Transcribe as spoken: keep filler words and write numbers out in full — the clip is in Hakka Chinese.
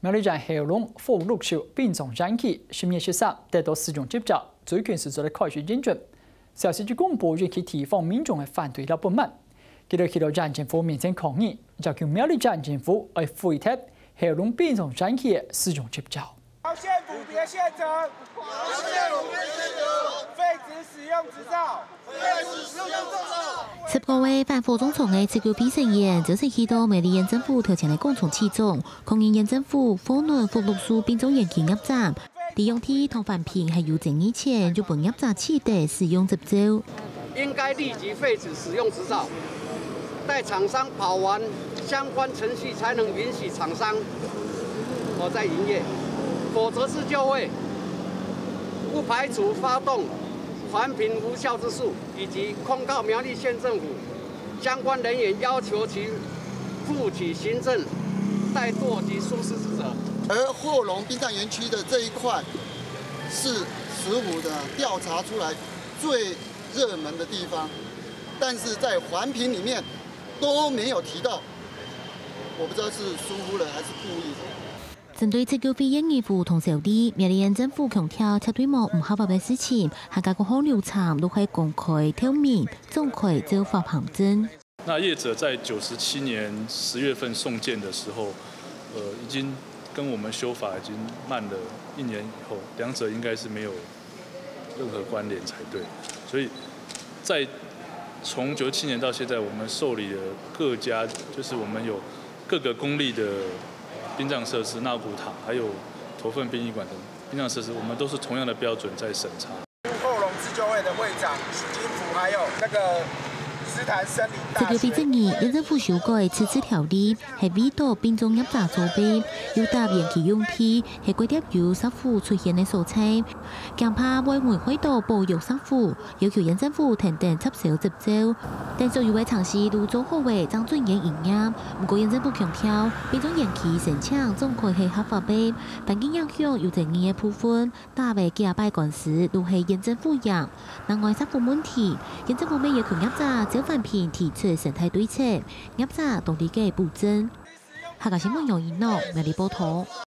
苗栗縣後龍福祿壽殯葬園區十月十三得到使用執照，最近係做得開始營運。消息一公布，引起地方民眾个反對摎不滿。佢兜去到縣政府面前抗議，要求苗栗縣政府愛廢忒後龍殯葬園區个使用執照。縣府別現成，縣府別現成，廢止使用執照。 十個位反火葬場个自救會成員，朝晨去到苗栗縣政府頭前个廣場聚集，抗議縣政府和暖福祿壽殯葬園區業者，利用地同環評係有爭議權，就分業者取得使用執照。應該立即廢止使用執照，待廠商跑完相關程序才能允許廠商哦再營業，否則是就會不排除發動環評無效之诉。 以及控告苗栗县政府相关人员，要求其负起行政怠惰及疏失之责。而后龙殡葬园区的这一块是石虎的调查出来最热门的地方，但是在环评里面都没有提到，我不知道是疏忽了还是故意的。 針對自救會个義務同效力，苗栗縣政府強調絕對無毋合法个事情，還加各項流程都係公開、透明、展開、照法行政。那業者在九十七年十月份送件的時候，呃，已經跟我們修法已經慢了一年以後，兩者應該是沒有任何關聯才對。所以在從九七年到現在，我們受理了各家，就是我們有各个公立的殯葬設施，納骨塔，還有头份殯儀館等殯葬設施，我們都是同樣的標準在審查。后龙自救会的会长许金福，还有那个斯坦森林大学。自救会質疑，县政府修改自治条例，係為到殯葬業者做兵，又答應其用地係該貼有石虎出現个所在，驚怕會危害到保育石虎，要求县政府停止接收執照。等所有个程序都做好个，正准願營業。毋過县政府強調，殯葬園區申請展開係合法个，環境影響有爭議个部分， 打个幾下擺官司都係縣政府贏。另外石虎問題，縣政府乜要求業者照環評提出生態對策，業者當理解補正。客家新聞楊一諾，苗栗報導。